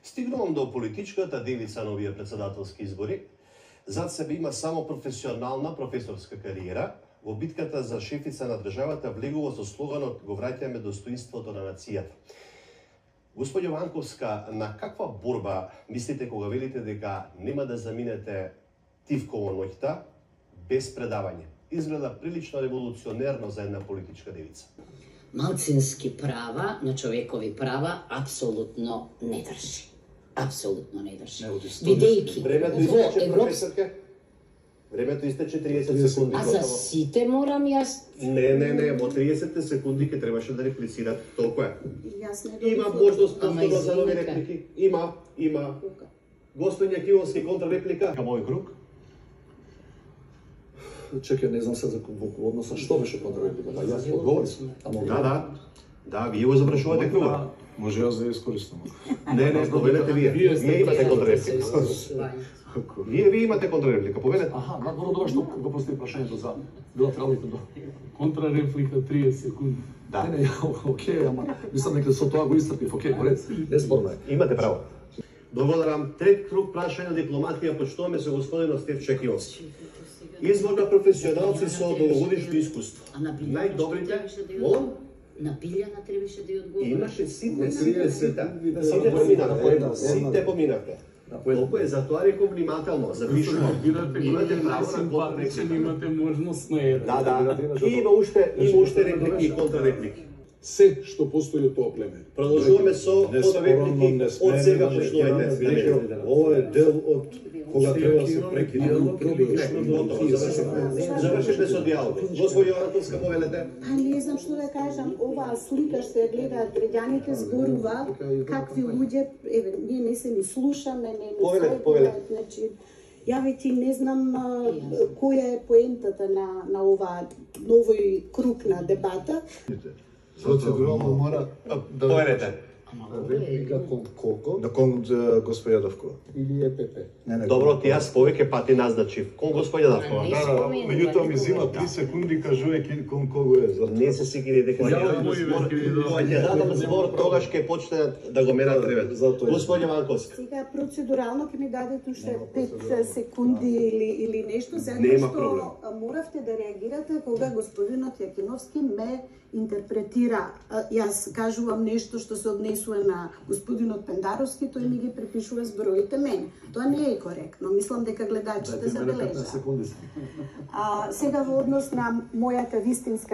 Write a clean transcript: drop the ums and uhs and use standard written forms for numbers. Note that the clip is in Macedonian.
Стигнувам до политичката делица на овие председателски избори. Зад себе има само професионална професорска кариера. Во битката за шефица на државата влегува со слоганот "Го враќаме достоинството на нацијата". Господјо Ванковска, на каква борба мислите кога велите дека нема да заминете тивково ноќта без предавање? Изгледа прилично револуционерно за една политичка девица. Малцински права на човекови права апсолутно не држи. Апсолутно не држи. Бидејќи Времето истече, професорке. Времето истече 30 секунди. А за сите морам јас? Не, во 30 секунди ке требаше да реплицирате, толку е. Има добив можност Ама повторно за нови извинете. реплики. Има. Господиња Кивовски контрреплика. Кај мој круг. Чекај, не знам се за во односа што беше контррепликата. Јас одговорив. Да, вие го завршувате кругот. Може јас да ја искористам. Не, повелете вие. Вие имате контрреплика. Вие имате контрреплика, повелете. Аха, надвор тоа што го постави прашањето за билатералните до. Контрареплика 30 секунди. Да. Не, окей, ама мислам дека со тоа го исцрпив. Окей, поред. Неспорно е. Имате право. Благодарам. Трет круг прашања дипломатија почнуваме со господинот Стефче Кивовски. Избор на професионалци со долгогодишно искуство. Најдобрите, молам? На Билјана требаше да ја одговори. Имаше сите поминавте. Толку е, затоа реков внимателно, запишувам. Имате право на контрреплика. Имате можност на еден. Да. И има уште реплики и контрреплики. Се што постои од тоа племе. Продолжуваме со реплики од сега почнувајте. Ова е дел од кога треба да се прекине Завршите со диалог. Господјо Ванковска, повелете. Не знам што да кажам, оваа слика што ја гледаат граѓаните зборува какви луѓе, еве, ние не се ни слушаме, не ни Повелете. Значи, ја веќе не знам која е поентата на оваа новој круг на дебата. Процедурално мора да Повелете. реплика кон колко? Да кон господја Давкова. или ЕПП. Добро, ти јас повеќе пати назначив. Кон господја Давкова. Меѓутоа ми зима 3 секунди кажувајќи кон кого е. Не се сигурни дека кога ќе дадам збор, тогаш ќе почне да го мерат времето. Господје Ванковска. Сега процедурално ќе ми дадете уште 5 секунди или нешто, Нема затоа проблем. што моравте да реагирате кога господинот Јакиновски ме интерпретира. Јас кажувам нешто што се однесува на господинот Пендаровски, тој ми ги припишува збороите мене. Тоа не е коректно. Мислам дека гледачите забележаа. Сега во однос на мојата вистинска